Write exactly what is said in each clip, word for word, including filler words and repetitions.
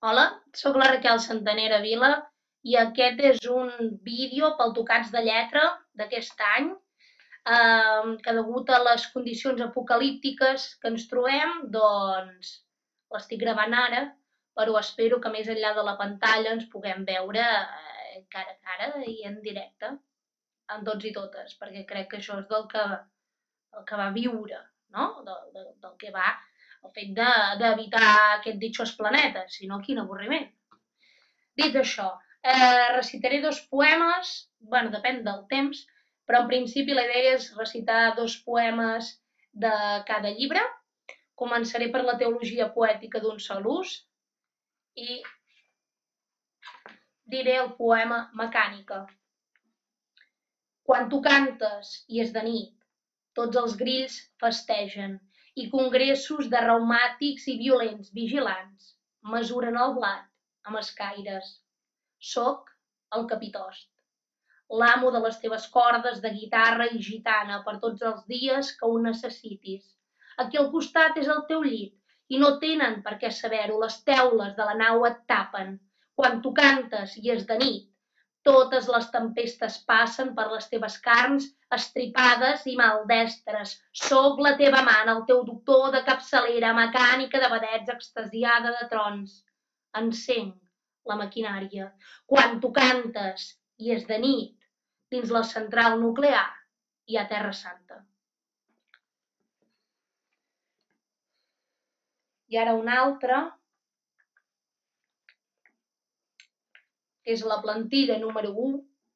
Hola, sóc la Raquel Santanera Vila i aquest és un vídeo pel Tocats de Lletra d'aquest any, eh, que degut a les condicions apocalíptiques que ens trobem, doncs l'estic gravant ara, però espero que més enllà de la pantalla ens puguem veure eh, cara a cara i en directe, amb tots i totes, perquè crec que això és del que, el que va viure, no? Del, del, del que va el fet d'evitar de, aquest ditxós planeta, si no, quin avorriment. Dit això, eh, recitaré dos poemes, bueno, depèn del temps, però en principi la idea és recitar dos poemes de cada llibre. Començaré per la teologia poètica d'un sol ús i diré el poema Mecànica. Quan tu cantes i és de nit, tots els grills festegen i congressos de reumàtics i violents vigilants mesuren el blat amb escaires. Soc el capitost, l'amo de les teves cordes de guitarra i gitana per tots els dies que ho necessitis. Aquí al costat és el teu llit i no tenen per què saber-ho, les teules de la nau et tapen. Quan tu cantes i és de nit, totes les tempestes passen per les teves carns estripades i maldestres. Soc la teva amant, el teu doctor de capçalera, mecànica de vedets, extasiada de trons. Encenc la maquinària. Quan tu cantes i és de nit, dins la central nuclear hi ha Terra Santa. I ara un altre, que és la plantilla número u,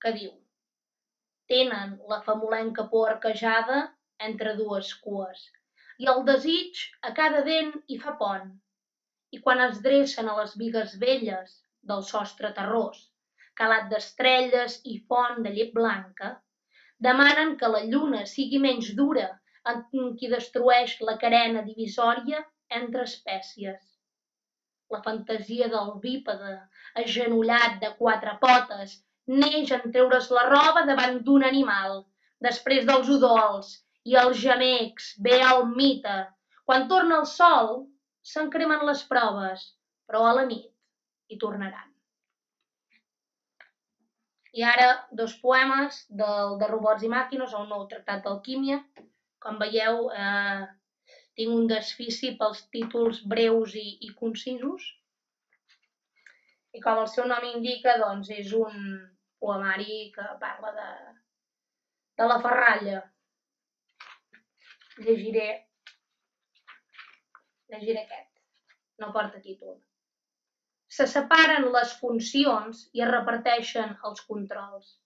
que diu: tenen la famolenca por arquejada entre dues cues, i el desig a cada dent hi fa pont, i quan es dreçen a les bigues velles del sostre terrós, calat d'estrelles i font de llet blanca, demanen que la lluna sigui menys dura en qui destrueix la carena divisòria entre espècies. La fantasia del bípede, agenollat de quatre potes, neix en treure's la roba davant d'un animal. Després dels udols i els gemecs ve el mite. Quan torna el sol, s'encremen les proves, però a la nit hi tornaran. I ara dos poemes del, de Robots i Màquines, el nou tractat d'alquímia. Com veieu, eh, tinc un desfici pels títols breus i, i concisos. I com el seu nom indica, doncs és un poemari que parla de, de la ferralla. Llegiré, llegiré aquest, no porta títol. Se separen les funcions i es reparteixen els controls.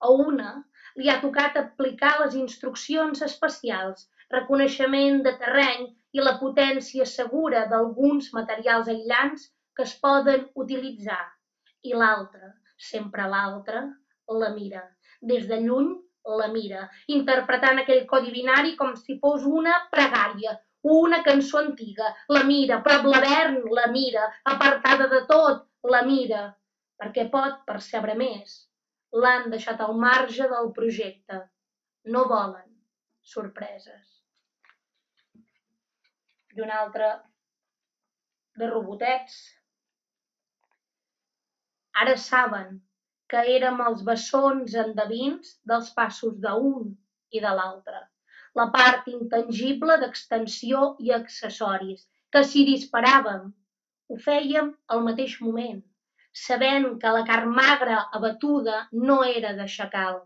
A una li ha tocat aplicar les instruccions espacials, reconeixement de terreny i la potència segura d'alguns materials aïllants que es poden utilitzar. I l'altra, sempre l'altra, la mira. Des de lluny la mira, interpretant aquell codi binari com si fos una pregària, una cançó antiga. La mira, prop l'Avern la mira, apartada de tot la mira, perquè pot percebre més. L'han deixat al marge del projecte. No volen sorpreses. I un altre de robotets. Ara saben que érem els bessons endevins dels passos d'un i de l'altre. La part intangible d'extensió i accessoris, que si disparàvem, ho fèiem al mateix moment, sabent que la carn magra abatuda no era de xacal.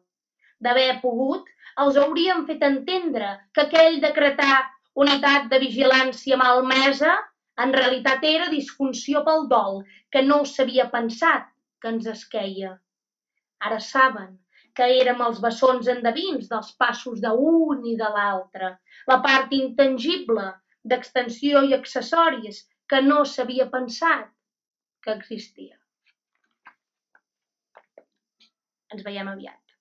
D'haver pogut, els hauríem fet entendre que aquell decretar unitat de vigilància malmesa en realitat era disfunció pel dol, que no s'havia pensat que ens esqueia. Ara saben que érem els bessons endevins dels passos d'un i de l'altre, la part intangible d'extensió i accessoris que no s'havia pensat que existia. Ens veiem aviat.